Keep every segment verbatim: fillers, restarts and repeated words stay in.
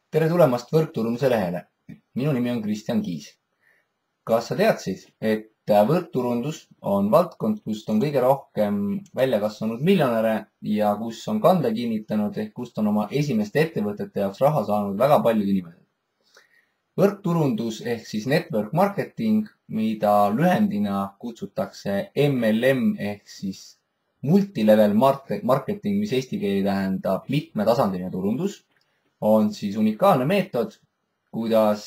Tere tulemast võrkturunduse lehele. Minu nimi on Kristjan Kiis. Kas sa teadsid, et võrkturundus on valdkond, kust on kõige rohkem välja kasvanud miljonäre ja kus on kande kinnitanud ehk kust on oma esimeste ettevõtete jaoks raha saanud väga paljud inimesed? Võrkturundus ehk siis network marketing, mida lühendina kutsutakse M L M ehk siis multilevel marketing, mis eesti keeli tähendab mitmetasandiline turundus, on siis unikaalne meetod, kuidas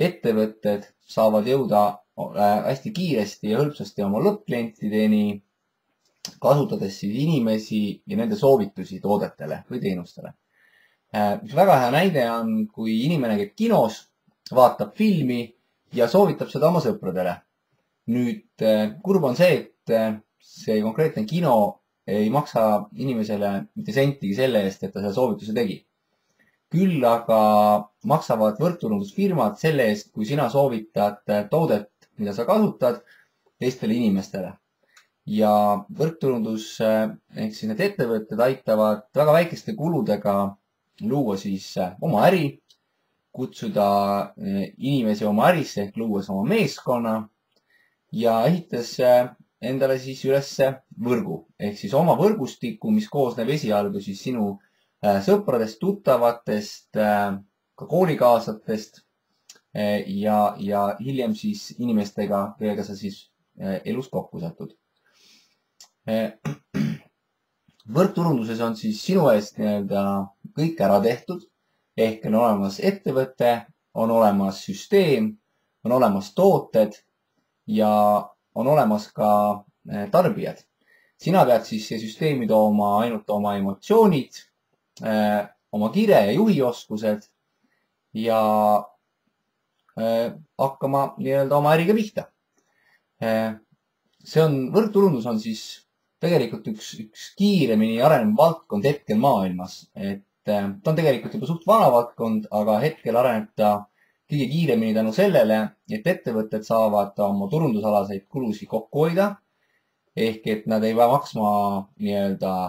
ettevõtted saavad jõuda hästi kiiresti ja hõlpsasti oma lõppklientideni, kasutades siis inimesi ja nende soovitusi toodetele või teenustele. Mis väga hea näide on, kui inimene käib kinos, vaatab filmi ja soovitab seda oma sõpradele. Nüüd kurb on see, et see konkreetne kino ei maksa inimesele mitte sentigi selle eest, et ta selle soovituse tegi. Küll aga maksavad võrkturundusfirmad selle eest, kui sina soovitad toodet, mida sa kasutad, teistele inimestele. Ja võrkturundus ehk siis need ettevõtted aitavad väga väikeste kuludega luua siis oma äri, kutsuda inimesi oma ärisse ehk luues oma meeskonna ja ehitas endale siis üles võrgu ehk siis oma võrgustiku, mis koosneb esialgu siis sinu sõpradest, tuttavatest, ka koolikaaslatest ja, ja hiljem siis inimestega, kellega sa siis elus kokku satud. Võrkturunduses on siis sinu eest nii-öelda kõik ära tehtud, ehk on olemas ettevõte, on olemas süsteem, on olemas tooted ja on olemas ka tarbijad. Sina pead siis see süsteemi tooma ainult oma emotsioonid, oma kire ja juhioskused ja hakkama nii-öelda oma äriga pihta. See on, võrkturundus on siis tegelikult üks, üks kiiremini arenev valdkond hetkel maailmas. Et ta on tegelikult juba suht vana valdkond, aga hetkel areneb ta kõige kiiremini tänu sellele, et ettevõtted saavad oma turundusalaseid kulusid kokku hoida. Ehk et nad ei pea maksma nii-öelda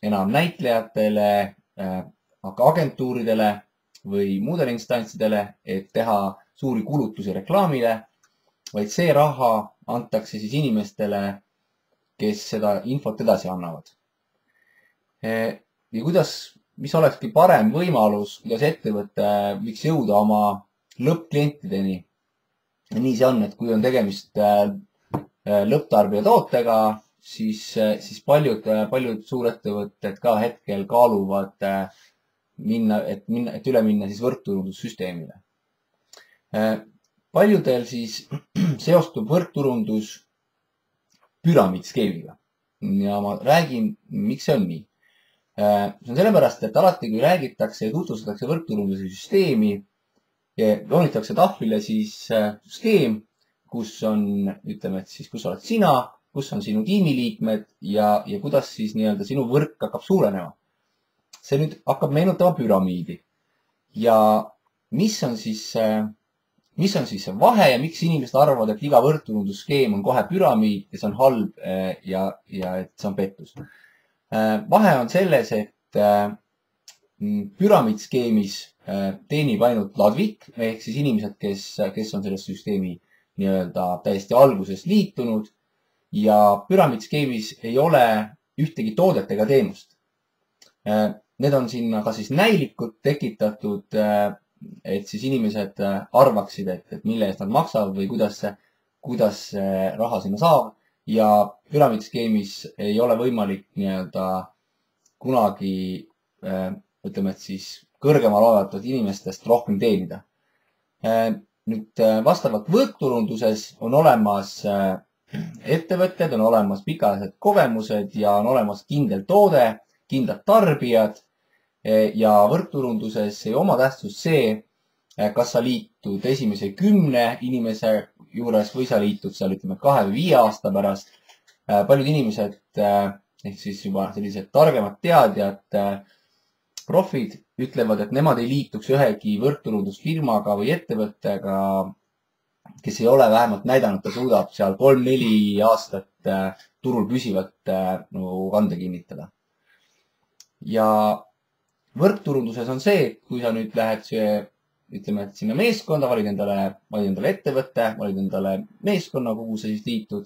enam näitlejatele, aga agentuuridele või muudele instantsidele, et teha suuri kulutusi reklaamile, vaid see raha antakse siis inimestele, kes seda infot edasi annavad. Ja kuidas, mis olekski parem võimalus, kuidas ettevõte võiks jõuda oma lõppklientideni. Nii see on, et kui on tegemist lõpptarbija tootega, siis, siis paljud, paljud suurettevõtted ka hetkel kaaluvad minna, et, minna, et üle minna siis võrkturundussüsteemile. Paljudel siis seostub võrkturundus püramiidskeemiga. Ja ma räägin, miks see on nii. See on sellepärast, et alati, kui räägitakse ja tutvustatakse võrkturunduse süsteemi, joonitakse tahvlile siis skeem, kus on, ütleme, et siis, kus oled sina, kus on sinu tiimiliikmed ja, ja kuidas siis nii-öelda sinu võrk hakkab suurenema. See nüüd hakkab meenutama püramiidi. Ja mis on siis, mis on siis see vahe ja miks inimesed arvavad, et iga võrkturundusskeem on kohe püramiid ja see on halb ja, ja et see on pettus. Vahe on selles, et püramiidskeemis teenib ainult ladvik, ehk siis inimesed, kes, kes on selles süsteemi nii-öelda täiesti alguses liitunud ja püramiidskeemis ei ole ühtegi toodet ega teenust. Need on sinna ka siis näilikud tekitatud, et siis inimesed arvaksid, et, et mille eest nad maksavad või kuidas, kuidas raha sinna saab. Ja püramiidskeemis ei ole võimalik nii-öelda kunagi, ütleme, et siis kõrgemal olevatelt inimestest rohkem teenida. Nüüd vastavalt võrkturunduses on olemas ettevõtted, on olemas pikaajalised kogemused ja on olemas kindel toode, kindlad tarbijad ja võrkturunduses ei oma tähtsust see, kas sa liitud esimese kümne inimese juures või sa liitud seal ütleme kahe või viie aasta pärast. Paljud inimesed ehk siis juba sellised targemad teadjad, profid ütlevad, et nemad ei liituks ühegi võrkturundusfirmaga või ettevõttega, kes ei ole vähemalt näidanud, ta suudab seal kolm-neli aastat turul püsivalt no, kande kinnitada. Ja võrkturunduses on see, et kui sa nüüd lähed see, ütleme, et sinna meeskonda, valid endale, valid endale ettevõtte, valid endale meeskonna, kuhu sa siis liitud,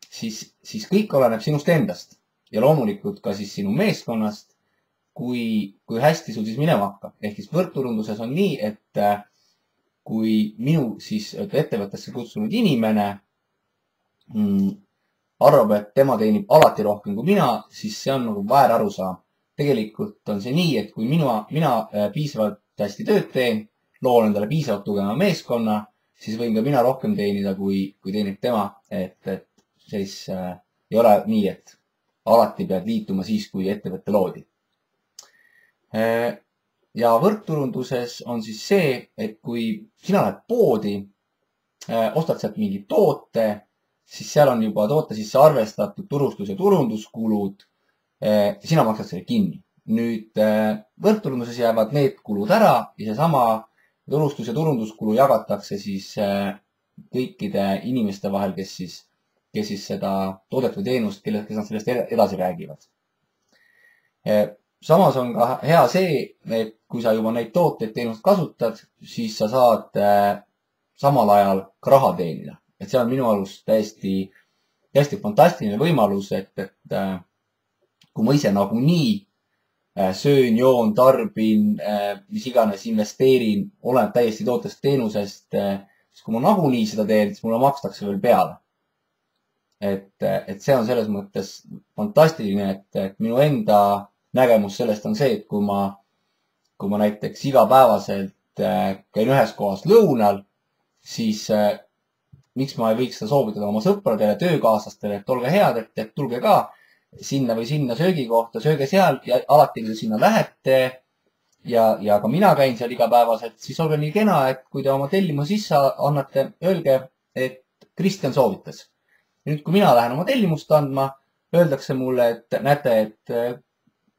siis, siis kõik oleneb sinust endast ja loomulikult ka siis sinu meeskonnast, kui, kui hästi sul siis minema hakkab. Ehk siis võrkturunduses on nii, et kui minu siis ettevõttesse kutsunud inimene mm, arvab, et tema teenib alati rohkem kui mina, siis see on nagu väär arusaam. Tegelikult on see nii, et kui mina, mina piisavalt hästi tööd teen, loon endale piisavalt tugeva meeskonna, siis võin ka mina rohkem teenida, kui, kui teenib tema. Et, et siis äh, ei ole nii, et alati pead liituma siis, kui ettevõtte loodi. Äh, ja võrkturunduses on siis see, et kui sina lähed poodi, äh, ostad sealt mingi toote, siis seal on juba toote sisse arvestatud turustus- ja turunduskulud. Sina maksad selle kinni. Nüüd võrkturunduses jäävad need kulud ära ja seesama turustus- ja turunduskulu jagatakse siis kõikide inimeste vahel, kes siis, kes siis seda toodet või teenust, kes nad sellest edasi räägivad. Samas on ka hea see, et kui sa juba neid tooteid teenust kasutad, siis sa saad samal ajal ka raha teenida. Et see on minu arust täiesti, täiesti fantastiline võimalus, et, et kui ma ise nagunii söön, joon, tarbin, mis iganes investeerin, olen täiesti tootest teenusest, siis kui ma nagunii seda teen, siis mulle makstakse veel peale. Et, et see on selles mõttes fantastiline, et, et minu enda nägemus sellest on see, et kui ma, kui ma näiteks igapäevaselt käin ühes kohas lõunal, siis miks ma ei võiks seda soovitada oma sõpradele, töökaaslastele, et olge head, et, et tulge ka sinna või sinna söögikohta, sööge seal ja alati, kui te sinna lähete ja, ja ka mina käin seal igapäevaselt, siis olge nii kena, et kui te oma tellimu sisse annate, öelge, et Kristjan soovitas. Nüüd, kui mina lähen oma tellimust andma, öeldakse mulle, et näete, et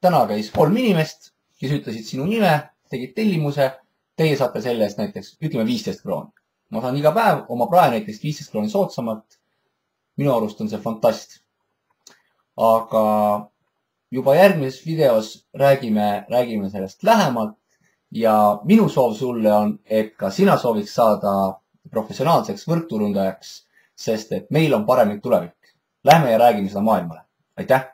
täna käis kolm inimest, kes ütlesid sinu nime, tegid tellimuse, teie saate selle eest näiteks, ütleme viisteist krooni. Ma saan iga päev oma prae näiteks viisteist krooni soodsamalt. Minu arust on see fantast. Aga juba järgmises videos räägime, räägime sellest lähemalt ja minu soov sulle on, et ka sina sooviks saada professionaalseks võrkturundajaks, sest et meil on paremik tulevik. Lähme ja räägime seda maailmale. Aitäh!